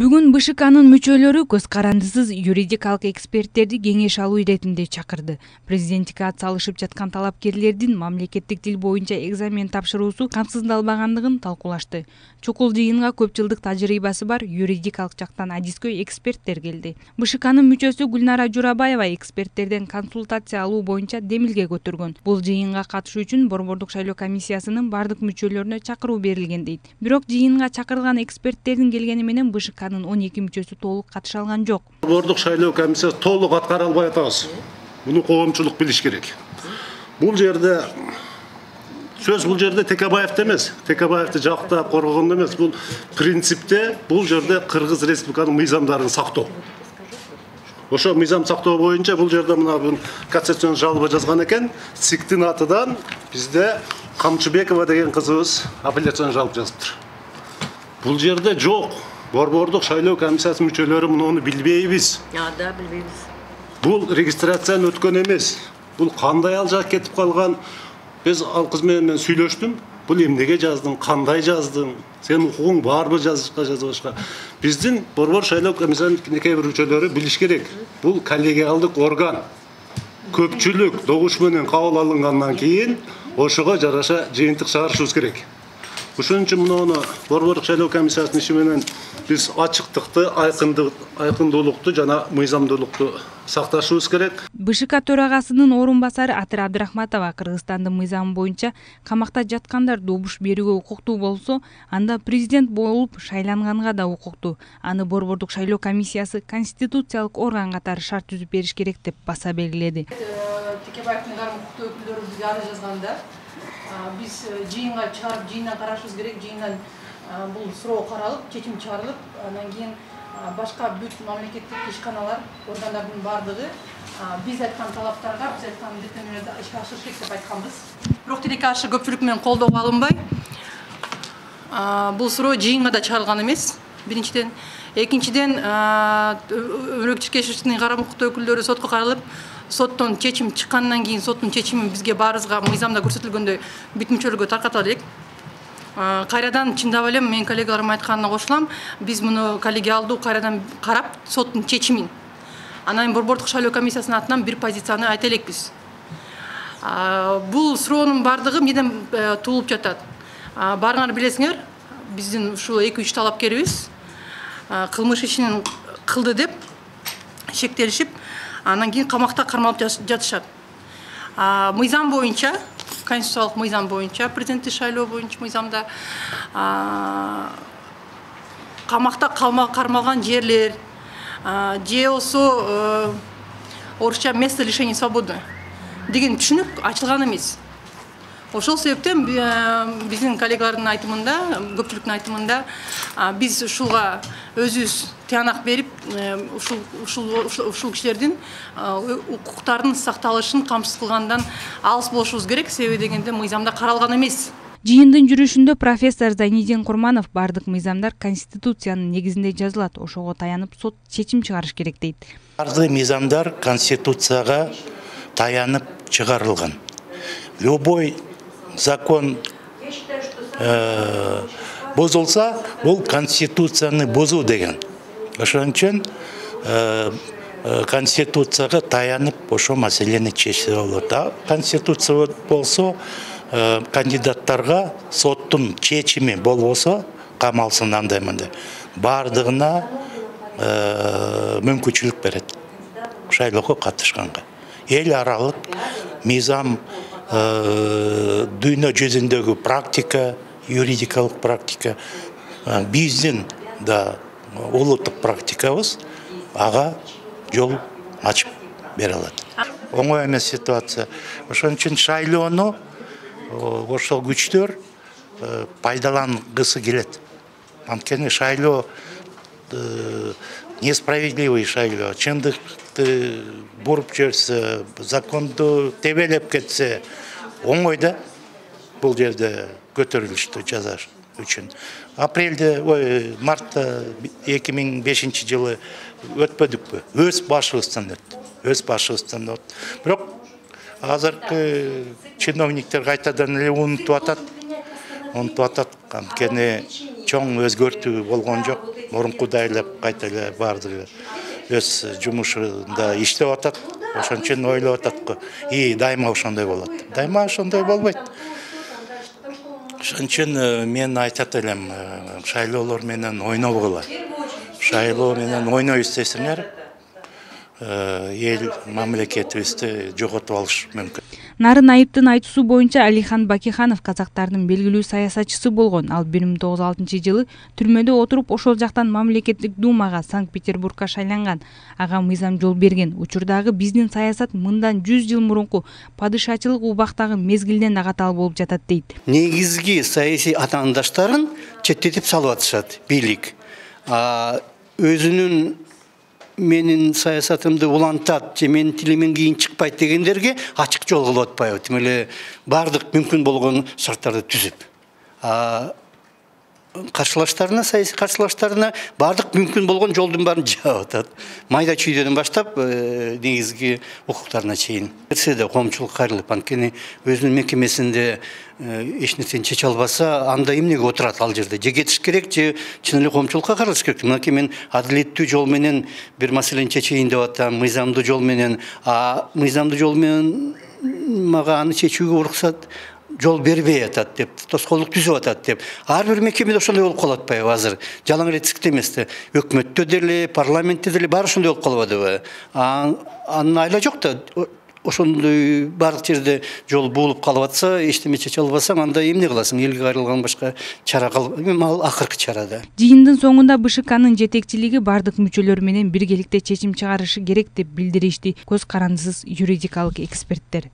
Бүгүн БШКнын мүчөлөрү көз карандысыз юридикалык эксперттерди кеңеш алуу иретинде чакырды. Президенттикке ат салышып жаткан талапкерлердин мамлекеттик тил боюнча экзамен тапшыруусу камсыздалбагандыгын талкуулашты. Чукул жыйынга көп жылдык тажрыйбасы бар юридикалык жактан адискөй эксперттер келди. БШКнын мүчөсү Гүлнара Журабаева эксперттерден консультация алуу боюнча демилге көтөргөн. Бул жыйынга катышуу үчүн Борбордук шайлоо комиссиясынын бардык мүчөлөрүнө чакыруу берилген дейт. Бирок жыйынга чакырылган эксперттердин келгени менен БШКнын 12 мүчөсү толук катыша алган жок. Борбордук шайлоо комиссиясы толук аткара албай атабыз. Муну коомчулук билиш керек. Бул жерде сөз Текебаевди эмес, Текебаевди жактап коргогондо эмес, бул принципте бул жерде Кыргыз Республиканын мыйзамдарын сактоо. Ошо мыйзам сактоо боюнча бул жерде мына кассацион жалоба жазган экен, ЦИКтин атынан бизде Камчыбекова деген кызыбыз апелляцион жалоба жазыптыр. Бул жерде жок. Борбордук шайлоо комиссиясынын мүчөлөрү муну билбейбиз. Да, билбейбиз. Бул регистрацияны өткөн эмес. Бул кандай алжак кетип калган? Биз ал кыз менен сүйлөштүм. Бул эмнеге жаздың, кандай жаздың? Сенин укугуң барбы жазбашка? Биздин Борбор шайлоо комиссиясынын кээ бир мүчөлөрү билиш керек. Бул коллегиалдык орган. Көпчүлүк добуш менен кабыл алынгандан кийин ошого жараша жыйынтык чыгарышыбыз керек. Ошон үчүн муну Борбордук шайлоо комиссиясынын иши менен биз ачыктыкты, айкындуулукту жана мыйзамдуулукту сакташыбыз керек. БШК төрагасынын орун басары Атыр Абдрахматова Кыргызстандын мыйзамы боюнча камакта жаткандар добуш берүүгө укуктуу болсо, анда президент болуп шайланганга да укуктуу. Аны Борбордук шайлоо комиссиясы конституциялык орган катары шарт түзүп бериш керек деп баса белгиледи. Текебаевдин укуктуу өкүлдөрү бизге арыз жазганда биз жыйынга чыгарып, жыйындан карашыбыз керек. Жыйындан бул суроо каралып, чечим чыгарылып, андан кийин башка бүт мамлекеттик ишканалар, органдардын бардыгы биз айткан талаптарга, биз айткан милдеттенүүлөрдү ишке ашырыш керек деп айтканбыз. Бирок тилекке каршы көпчүлүк менен колдоого алынбай, бул суроо жыйынга да чыгарылган эмес. Биринчиден, экинчиден Өрөкчү карама укуктуу өкүлдөрү сотко кайрылып, соттон чечим чыккандан кийин соттун чечимин бизге баарыбызга мыйзамда көрсөтүлгөндөй бүт мүчөлөргө тарката элек. Кайрадан чындап эле менин коллегаларым айтканына кошулам, биз муну коллегиалдуу кайрадан карап соттун чечимин. Анан Борбордук шайлоо комиссиясынын атынан бир позицияны айта элекпиз. Бул суроонун бардыгы эмнеден туулуп жатат? Баарыңар билесиңер, биздин ушул 2-3 талапкерибиз кылмыш ишин кылды деп шектелишип, анан кийин камакта кармалып жатышат. Мыйзам боюнча, конституциялык мыйзам боюнча, президенттик шайлоо боюнча мыйзамда камакта кармалган жерлер же болсо орусча место лишения свободы деген түшүнүк ачылган эмес. Ошол себептен биздин коллегалардын айтымында, көпчүлүктүн айтымында биз ушуга өзүбүз тыянак берип, ушул кишилердин укуктарынын сакталышын камсыз кылгандан алыс болушубуз керек, себеби дегенде мыйзамда каралган эмес. Жыйындын жүрүшүндө профессор Зайнидин Курманов бардык мыйзамдар конституциянын негизинде жазылат, ошого таянып сот чечим чыгарыш керек дейт. Бардык мыйзамдар конституцияга таянып чыгарылган. Любой закон бузулса, бул конституцияны бузуу деген. Ошон үчүн конституцияга таянып ошо маселени чечсе болот. Конституция болсо, кандидаттарга соттун чечими болбосо, камалсын андай-мындай, бардыгына мүмкүнчүлүк берет шайлоого катышканга. Эл аралык мыйзам, дүйнө жүзүндөгү практика, юридикалык практика, биздин да улуттук практикабыз ага жол ачып бере алат. Оңой эмес ситуация. Ошон үчүн шайлоону ошол күчтөр пайдалангысы келет. Анткени шайлоо несправедливый шайлоо, чындыкты буруп жиберсе, законду тебелеп кетсе, оңой да бул жерде көтөрүлүштү жазаш үчүн. Мартта 2005 жылы өтпөдүкпү? Өз башыбыздан өттү. Бирок азыркы чиновниктер кайтадан эле унутуп атат. Анткени чоң өзгөртүү болгон жок. Мурункудай эле кайта эле баардыгы өз жумушунда иштеп атат. Ошон үчүн ойлоп атат го. Дайыма ошондой болот. Дайыма ошондой болбойт. Ошон үчүн мен айтат элем, шайлоолор менен ойнобогула. Шайлоо менен ойнойбуз десеңер, эл мамлекетибизди жоготуп алыш мүмкүн. Нарын Айыптын айтуусу боюнча Алихан Бакиханов казактардын белгилүү саясатчысы болгон. Ал 1906-жылы түрмөдө отуруп ошол жактан мамлекеттик думага Санкт-Петербургга шайланган. Ага мыйзам жол берген. Учурдагы биздин саясат мындан 100 жыл мурунку падышачылык убактагы мезгилден агатал болуп жатат дейт. Негизги саясий атаандаштарын четтетип салып атышат бийлик. Өзүнүн менин саясатымды улантат же менин тилимен кийин чыкпайт дегендерге ачык жол кылып атпайбы. Тим эле баардык мүмкүн болгон шарттарды түзүп. Каршылаштарына, саясий каршылаштарына баардык мүмкүн болгон жолдун баарын жаап атат. Майда чүйдөдөн баштап негизги укуктарына чейин. Нерседе коомчулук кайрылып, анткени өзүнүн мекемесинде эч нерсени чече албаса, анда эмнеге отурат ал жерде? Же кетиш керек, же чын эле коомчулукка кайрылыш керек. Мынакей мен адилеттүү жол менен бир маселени чечейин деп атам, мыйзамдуу жол менен, мыйзамдуу жол менен мага аны чечүүгө уруксат жол бербей атат деп, тоскоолдук түзүп атат деп. Ар бир мекемеде ошондой болуп калып атпайбы азыр? Жалаң ретсиздик эмес да. Өкмөттө деле, парламентте деле баары ошондой болуп калып атабы? Анын айла жок да. Ошондой баардык жерде жол буулуп калып атса, эчтеме чече албасаң, анда эмне кыласың? Элге кайрылган башка чара ал акыркы чара да. Жыйындын соңунда БШКнын жетекчилиги баардык мүчөлөр менен биргеликте чечим чыгарышы керек деп билдиришти көз карандысыз юридикалык эксперттер.